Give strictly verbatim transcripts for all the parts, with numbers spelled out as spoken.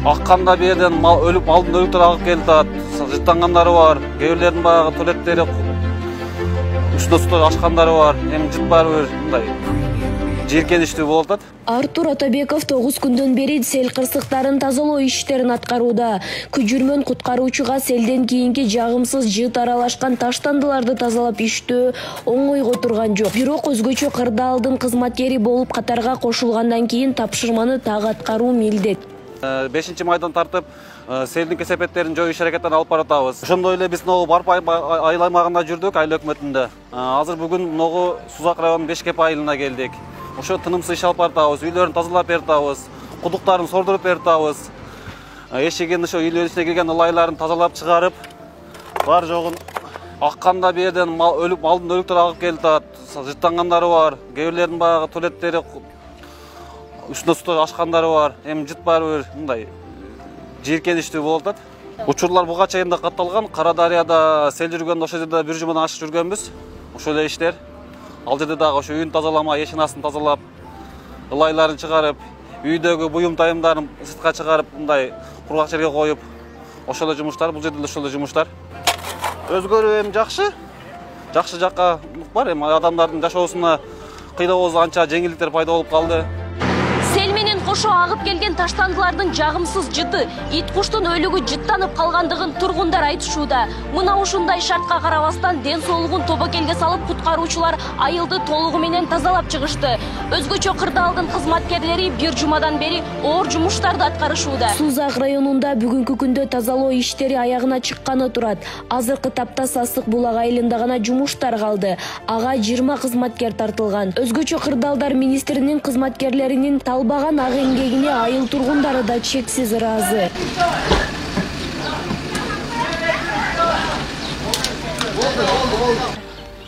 акканда бул жерден өлүп малдын өлүктөрү агып келип атат. Жыттангандары бар, кээ бирлердин баягы туалеттери үстүнө суу ачкандары бар. Эми жыт баары бир мындай жийиркеничтүү болуп атат. Артур Атабеков тогуз күндөн бери сел кырсыктарын тазалоо иштерин аткарууда. Күжүрмөн куткаруучуга селден кийинки жагымсыз жыт аралашкан таштандыларды тазалап иштөө оңойго турган жок. Бирок өзгөчө кырдаалдын кызматкери болуп катарга кошулгандан кийин тапшырманы так аткаруу милдет. бешинчи майдан тартып селдин кесепеттерин жоюу иш аракетин алып баратабыз. Ошондой эле биз ногу барып айыл аймагында жүрдүк, айыл өкмөтүндө. Азыр бүгүн ногу Сузак районунун Бешкеп айылына келдик. Ошо тынымсыз иш алып баратабыз, үйлөрүн тазалап бератабыз, кудуктарын сордуруп бератабыз. Эшигин ошо үйлөрүн ичине кирген ылайларын тазалап чыгарып, бар жогун акканда бул жерден өлүп малдын өлүктөрү агып келип атат. Жыттангандары бар, кээ бирлердин баягы туалеттери үстүнө суу ачкандары бар. Эми жыт баары бир мындай жийиркеничтүү болуп атат. Учурлар буга чейин да катталган. Кара Дарыяда сел жүргөндө ошол жерде бир жумадан ашык жүргөнбүз. Ошол эле иштер. Ал жерде дагы ошо үйүн тазаламай, эшин астын тазалап, ылайларын чыгарып, үйдөгү буюм тайымдарын сыртка чыгарып, мындай кургак жерге коюп, ошол эле жумуштар, бул жерде ошол эле жумуштар. Өзгөрүү эми жакшы. Жакшы жакка бар. Эми адамдардын жашоосуна кыйдоосу анча жеңилдиктер пайда болуп калды. Сел менен кошо агып келген таштандылардын жагымсыз жыты, ит куштун өлүгү жыттанып калгандыгын тургундар айтышууда. Мына ушундай шартка карабастан ден соолугун тобокелге салып куткаруучулар айылды толугу менен тазалап чыгышты. Өзгөчө кырдаалдын кызматкерлери бир жумадан бери оор жумуштарды аткарышууда. Сузак районунда бүгүнкү күндө тазалоо иштери аягына чыкканы турат. Азыркы тапта Сасык булак айылында гана жумуштар калды. Ага жыйырма кызматкер тартылган. Өзгөчө кырдаалдар министринин кызматкерлеринин талбаган ак эмгегине айыл тургундары да чексиз ыраазы.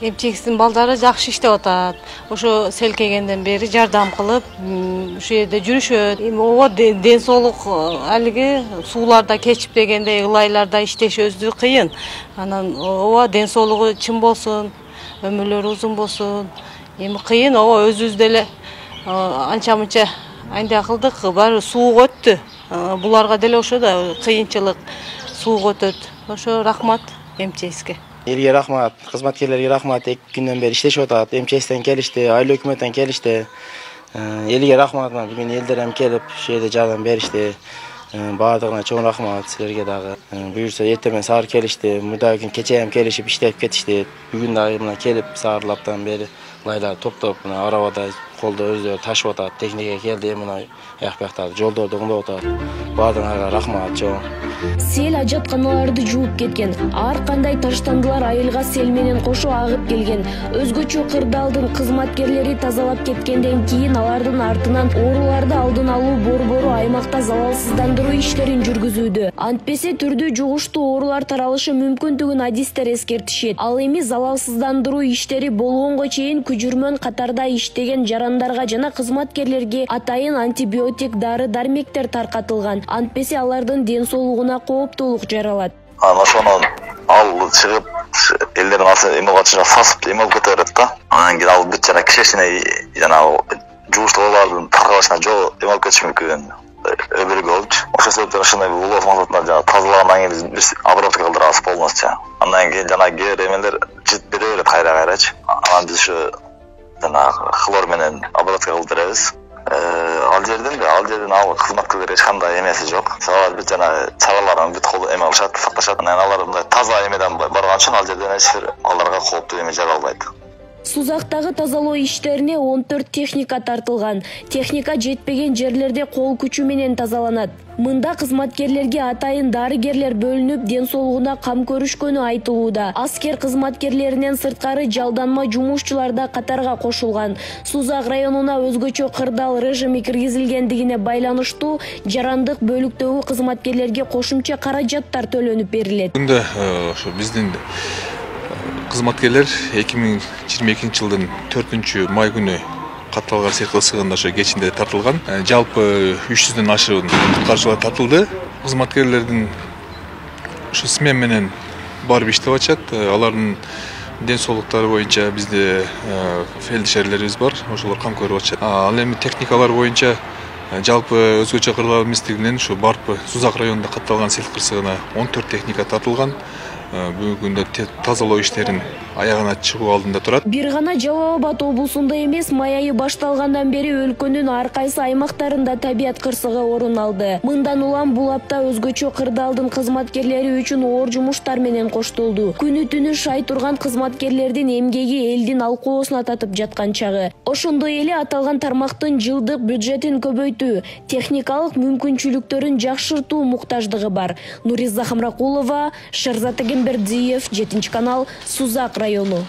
Эмчегиздин балдары жакшы иштеп атат. Ошо сел келгенден бери жардам кылып, ушул жерде жүрүшөт. Эми ооба ден соолук алиги сууларда кечип дегенде ылайларда иштешибиз кыйын. Анан ооба ден соолугу чын болсун, өмүрлөрү узун болсун. Эми кыйын, ооба өзүбүз деле анча-мынча андай кылдык, баары сууга өттү. Буларга деле ошо да кыйынчылык, сууга өтөт. Ошо рахмат эмчегизге. Элге рахмат, кызматкерлерге рахмат. эки күндөн бери иштешип атат. Эмчегизден келишти, айыл өкмөттөн келишти. Элге рахмат, бүгүн элдер эм келип, ушул жерде жардам беришти. Баардыгына чоң рахмат, силерге дагы. Буюрса эртең менен саар келишти, мурда күн кече эм келишип иштеп кетишти. Бүгүн дагы мына келип саарлаптан бери лайлар топтоп, мына арабада колдо өздөрү ташып атат. Техника келди, мына аяк бияктарды жолдорду оңдоп атат. Баардыгына рахмат чоң. Сел ажатканаларды жууп кеткен. Ар кандай таштандылар айылга сел менен кошо агып келген. Өзгөчө кырдаалдын кызматкерлери тазалап кеткенден кийин алардын артынан ооруларды алдын алуу борбору аймакта залалсыздандыруу иштерин жүргүзүүдө. Антпесе түрдүү жугуштуу оорулар таралышы мүмкүндүгүн адистер эскертишет. Ал эми залалсыздандыруу иштери болгонго чейин күжүрмөн катарда иштеген жарандарга жана кызматкерлерге атайын антибиотик дары-дармектер таркатылган. Антпесе алардын ден соолугуна кооптуулук жаралат. Ошону ал чыгып, элдердин асы эме катышына сасып эме алып кете берет да. Анан кийин ал бүт жана кишесине жана жугуштуу оорулардын таркалышына жол эме алып кетиши мүмкүн. Өбөлгө болчу. Ошол себептен ошондой улуу максатында жана тазалагандан кийин биз обработка кылдырабыз полностью. Андан кийин жана кээ эмелер жыт бере берет кайра-кайрачы. Анан биз ушу жана хлор менен обработка кылдырабыз. Ал жерден ал жерден ал кызматкерлер эч кандай эмеси жок. Алар бүт жана чараларын бүт кол эме алышат, сакташат. Анан алар мындай таза эмеден барган үчүн ал жерден эч бир аларга кооптуу эме жаралбайт. Сузактагы тазалоо иштерине он төрт техника тартылган. Техника жетпеген жерлерде кол күчү менен тазаланат. Мында кызматкерлерге атайын дарыгерлер бөлүнүп, ден соолугуна кам көрүшкөнү айтылууда. Аскер кызматкерлеринен сырткары жалданма жумушчулар да катарга кошулган. Сузак районуна өзгөчө кырдаал режими киргизилгендигине байланыштуу жарандык бөлүктөгү кызматкерлерге кошумча каражаттар төлөнүп берилет. Мында ошо биздин кызматкерлер эки миң жыйырма экинчи жылдын төртүнчү май күнү катталган сыйкы сыгында ошо кечинде тартылган. Жалпы үч жүздөн ашык куткаруучулар тартылды. Кызматкерлердин ушу смен менен барып иштеп атышат. Алардын ден соолуктары боюнча бизде фельдшерлерибиз бар, ошолор кам көрүп атышат. Ал эми техникалар боюнча Жалпы өзгөчө кырлар эместигинен ушу Барпы Сузак районунда катталган сел кырсыгына он төрт техника тартылган. Бүгүнкү күндө тазалоо иштерин аягына чыгуу алдында турат. Бир гана Жалал Абад облусунда эмес, май айы башталгандан бери өлкөнүн ар кайсы аймактарында табият кырсыгы орун алды. Мындан улам бул апта өзгөчө кырдаалдын кызматкерлери үчүн оор жумуштар менен коштолду. Күнү түнү шай турган кызматкерлердин эмгеги элдин алкоосуна татып жаткан чагы. Ошондой эле аталган тармактын жылдык бюджетин көбөйтүү, техникалык мүмкүнчүлүктөрүн жакшыртуу муктаждыгы бар. Нуриза Хамракулова, Шерзат Бердиев, жетинчи канал, Сузак району.